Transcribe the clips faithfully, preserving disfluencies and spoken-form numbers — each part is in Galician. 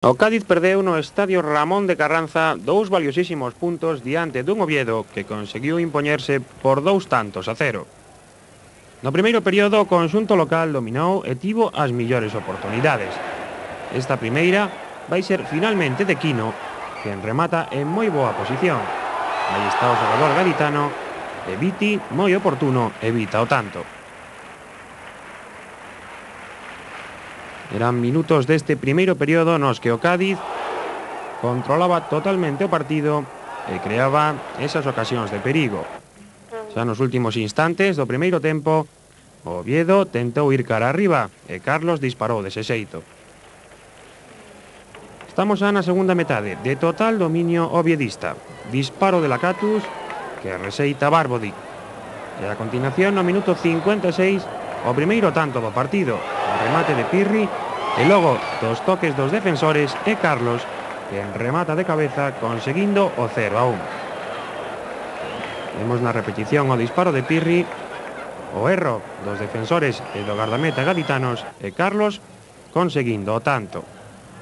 O Cádiz perdeu no estadio Ramón de Carranza dous valiosísimos puntos diante dun Oviedo que conseguiu impoñerse por dous tantos a cero. No primeiro período o conxunto local dominou e tivo as millores oportunidades. Esta primeira vai ser finalmente de Quino, quen remata en moi boa posición. Aí está o xogador gaditano e Viti, moi oportuno, evita o tanto. Eran minutos deste primeiro período nos que o Cádiz controlaba totalmente o partido e creaba esas ocasións de perigo. Xa nos últimos instantes do primeiro tempo, o Oviedo tentou ir cara arriba e Carlos disparou dese xeito. Estamos xa na segunda metade, de total dominio oviedista. Disparo de Lacatus que reseita Barbodic. E a continuación, no minuto cincuenta e seis, o primeiro tanto do partido, o remate de Pirri, e logo dos toques dos defensores e Carlos, que remata de cabeza conseguindo o cero a uno. Vemos na repetición o disparo de Pirri, o erro dos defensores e do gardameta gaditanos e Carlos conseguindo o tanto.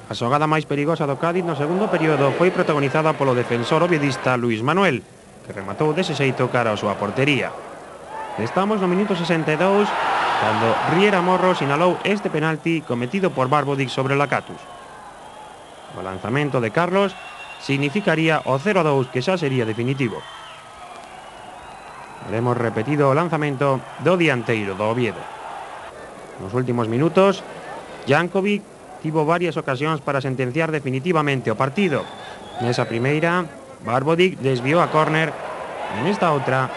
A xogada máis perigosa do Cádiz no segundo período foi protagonizada polo defensor oviedista Luis Manuel, que rematou dese xeito cara a súa portería. Estamos no minuto sesenta e dous, cando Riera Morro sinalou este penalti cometido por Barbodic sobre Lacatus. O lanzamento de Carlos significaría o cero a dous, que xa sería definitivo. Veremos repetido o lanzamento do dianteiro do Oviedo. Nos últimos minutos, Jankovic tivo varias ocasións para sentenciar definitivamente o partido. Nesa primeira, Barbodic desviou a córner, e nesta outra,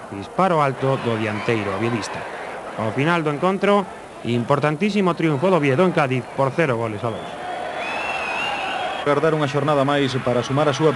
disparo alto do dianteiro oviedista. Ao final do encontro, importantísimo triunfo do Oviedo en Cádiz por cero goles a dous. Guardar unha xornada máis para sumar a súa